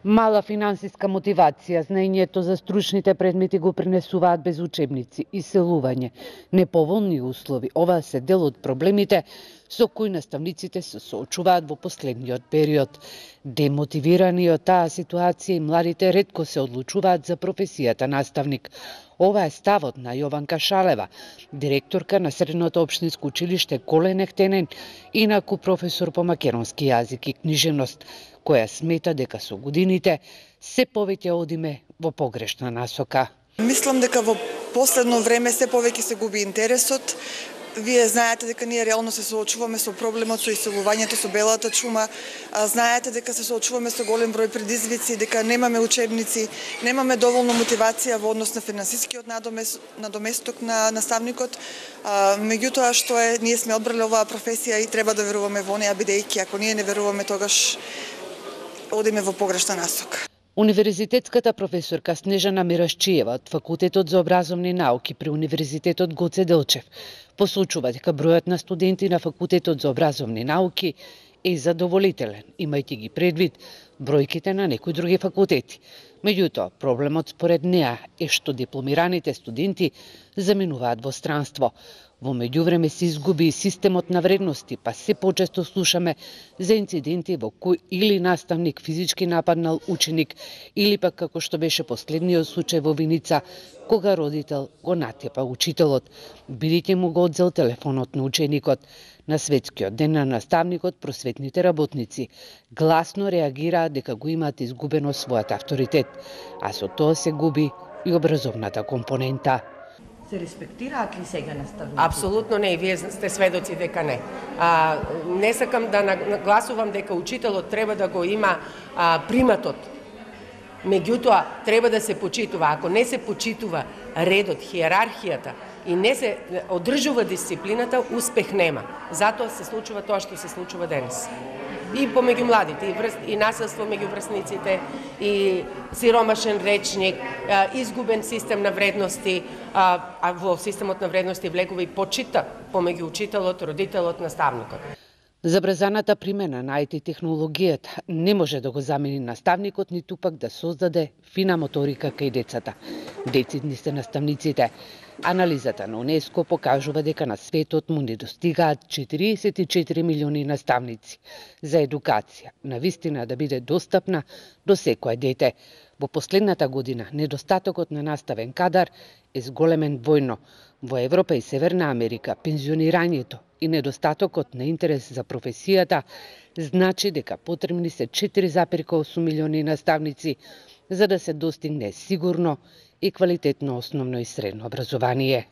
Мала финансиска мотивација, знаењето за стручните предмети го принесуваат без учебници, иселување, неповолни услови. Ова се дел од проблемите со кои наставниците се соочуваат во последниот период. Демотивирани од таа ситуација и младите ретко се одлучуваат за професијата наставник. Ова е ставот на Јованка Шалева, директорка на Средното општинско училиште Колен Ехтенен, инаку професор по македонски јазик и книжевност, која смета дека со годините се повеќе одиме во погрешна насока. Мислам дека во последно време се повеќе се губи интересот. Вие знаете дека ние реално се соочуваме со проблемот со иселувањето, со белата чума. Знаете дека се соочуваме со голем број предизвици, дека немаме учебници, немаме доволно мотивација во однос на финансискиот надоместок на наставникот. Меѓутоа што е, ние сме одбрале оваа професија и треба да веруваме во неа, бидејќи ако ние не веруваме, тогаш одиме во погрешна насока. Универзитетската професорка Снежана Мирашчиева од Факултетот за образовни науки при Универзитетот Гоце Делчев посочува дека бројот на студенти на Факултетот за образовни науки е задоволителен, имајќи ги предвид бројките на некои други факултети. Меѓутоа, проблемот според неа е што дипломираните студенти заминуваат во странство. Во меѓувреме се изгуби и системот на вредности, па се почесто слушаме за инциденти во кои или наставник физички нападнал ученик, или пак како што беше последниот случај во Виница, кога родител го натепа учителот, бидејќи му го одзел телефонот на ученикот. На Светскиот ден на наставникот, просветните работници гласно реагираат дека го имаат изгубено својот авторитет, а со тоа се губи и образовната компонента. Се респектираат ли сега наставниците? Апсолутно не, и вие сте сведоци дека не. Не сакам да нагласувам дека учителот треба да го има приматот. Меѓутоа, треба да се почитува. Ако не се почитува редот, хиерархијата и не се одржува дисциплината, успех нема. Затоа се случува тоа што се случува денес. И помеѓу младите, и насилство меѓу врсниците, и сиромашен речник, изгубен систем на вредности, а во системот на вредности влегува и почита помеѓу учителот, родителот, наставникот. Забрзаната примена на IT технологијата не може да го замени наставникот, ниту пак да создаде фина моторика кај децата. Децидни се наставниците. Анализата на УНЕСКО покажува дека на светот му недостигаат 44 милиони наставници за едукација, навистина да биде достапна до секое дете. Во последната година недостатокот на наставен кадар е зголемен двојно. Во Европа и Северна Америка пензионирањето и недостатокот на интерес за професијата значи дека потребни се 4,8 милиони наставници за да се достигне сигурно и квалитетно основно и средно образование.